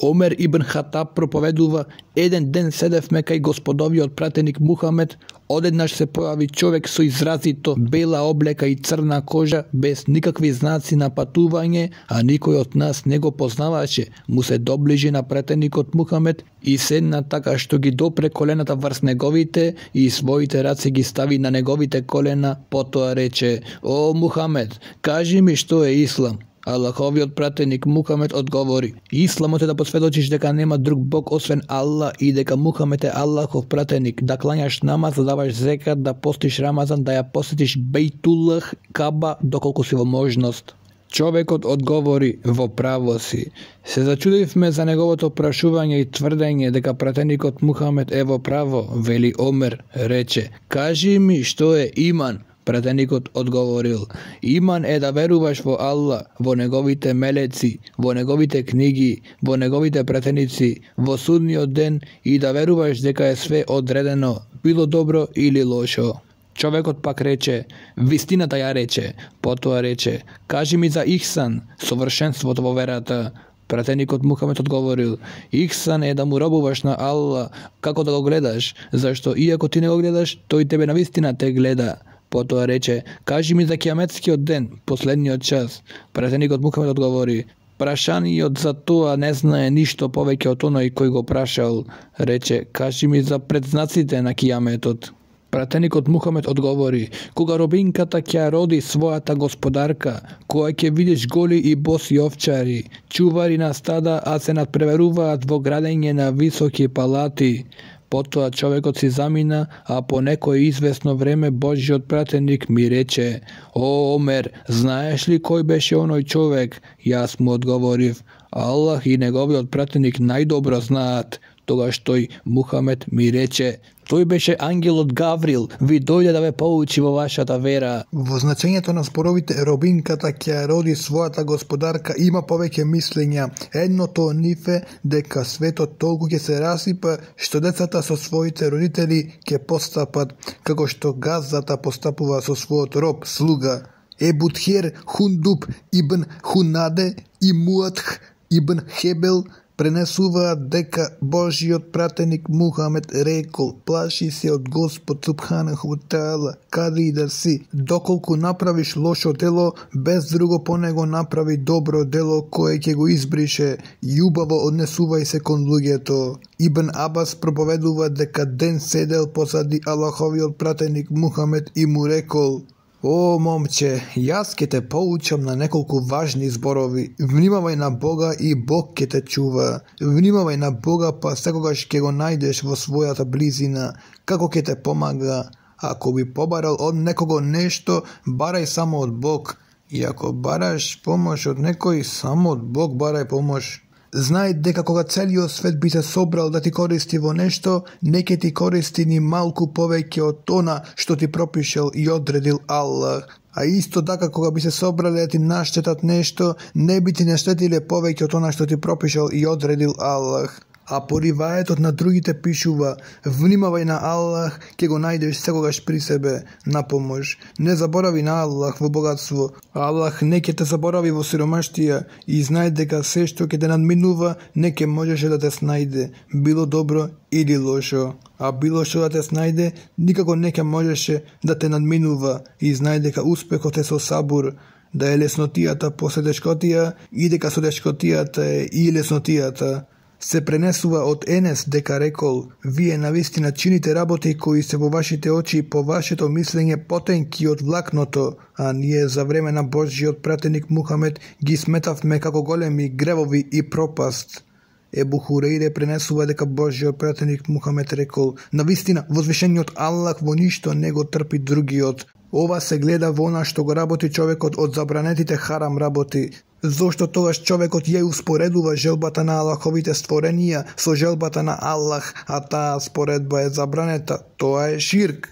Омер ибн Хатаб проповедува: еден ден седевме кај господовиот пратеник Мухамед, одеднаш се појави човек со изразито бела облека и црна кожа, без никакви знаци на патување, а никој од нас не го познаваше. Му се доближи на пратеникот Мухамед и седна така што ги допре колената врз неговите и своите раце ги стави на неговите колена, потоа рече: "О Мухамед, кажи ми што е ислам?" Аллаховиот пратеник Мухамед одговори: "Исламот е да посведочиш дека нема друг Бог освен Аллах и дека Мухамед е Аллахов пратеник, да клањаш намаз, да даваш зекат, да постиш Рамазан, да ја посетиш Бейтуллах, Каба, доколку си во можност." Човекот одговори: "Во право си." Се зачудивме за неговото прашување и тврдење дека пратеникот Мухамед е во право. Вели Омер, рече: "Кажи ми што е иман?" Пратеникот одговорил: "Иман е да веруваш во Аллах, во неговите мелеци, во неговите книги, во неговите пратеници, во судниот ден и да веруваш дека е све одредено, било добро или лошо." Човекот пак рече: "Вистината ја рече." Потоа рече: "Кажи ми за ихсан, совршенството во верата." Пратеникот Мухамед одговорил: "Ихсан е да му робуваш на Аллах како да го гледаш, зашто иако ти не го гледаш, тој тебе навистина те гледа." Потоа рече: "Кажи ми за кијаметскиот ден, последниот час." Пратеникот Мухамед одговори: "Прашаниот за тоа не знае ништо повеќе од оној кој го прашал." Рече: "Кажи ми за предзнаците на кијаметот." Пратеникот Мухамед одговори: "Кога робинката ќе роди својата господарка, кога ќе видиш голи и боси овчари, чувари на стада, а се надпреверуваат во градење на високи палати." Потоа човекот си замина, а по некој известно време Божјиот пратеник ми рече: "О Омер, знаеш ли кој беше оној човек?" Јас му одговорив: "Аллах и неговиот пратеник најдобро знаат." Тогаш тој Мухамед ми рече: "Тој беше ангелот Гаврил, ви дојде да ве поучи во вашата вера." Во значењето на споровите робинката ќе роди својата господарка има повеќе мислења. Едното од нив е дека светот толку ќе се расипа што децата со своите родители ќе постапат како што газата постапува со својот роб, слуга. Ебутхер Хундуб ибн Хунаде и Муатх ибн Хебел пренесуваат дека Божјиот пратеник Мухамед рекол: "Плаши се од Господ Субханаху Таала, каде и да си, доколку направиш лошо дело, без друго по него направи добро дело кое ќе го избрише, љубаво однесувај се кон луѓето." Ибн Абас проповедува дека ден седел позади Аллаховиот пратеник Мухамед и му рекол: "О, момче, јас ќе те поучам на неколку важни зборови. Внимавај на Бога и Бог ќе те чува. Внимавај на Бога, па секогаш ќе го најдеш во својата близина. Како ќе те помага? Ако би побарал од некого нешто, барај само од Бог. И ако бараш помош од некој, само од Бог барај помош. Знај дека кога целиот свет би се собрал да ти користи во нешто, не ќе ти користи ни малку повеќе од она што ти пропишел и одредил Аллах. А исто така кога би се собрале да ти наштетат нешто, не би ти наштетиле повеќе од она што ти пропишел и одредил Аллах." А по риваетот на другите пишува: "Внимавај на Аллах, ќе го најдеш секогаш при себе на помош. Не заборави на Аллах во богатство. Аллах не ќе те заборави во сиромаштија и знај дека се што ќе те надминува не ќе можеше да те снајде, било добро или лошо. А било што да те снајде, никако не ќе можеше да те надминува и знај дека успехот е со сабур, да е леснотијата после тешкотија и дека со тешкотијата е и леснотијата." Се пренесува од Енес дека рекол: "Вие навистина чините работи кои се во вашите очи и по вашето мислење потенки од влакното, а ние за време на Божјиот пратеник Мухамед ги сметавме како големи гревови и пропаст." Ебу Хурейре пренесува дека Божјиот пратеник Мухамед рекол: "Навистина, возвишениот Аллах во ништо не го трпи другиот." Ова се гледа во она што го работи човекот од забранетите харам работи. Зошто тогаш човекот ја успоредува желбата на Аллаховите створенија со желбата на Аллах, а таа споредба е забранета, тоа е ширк.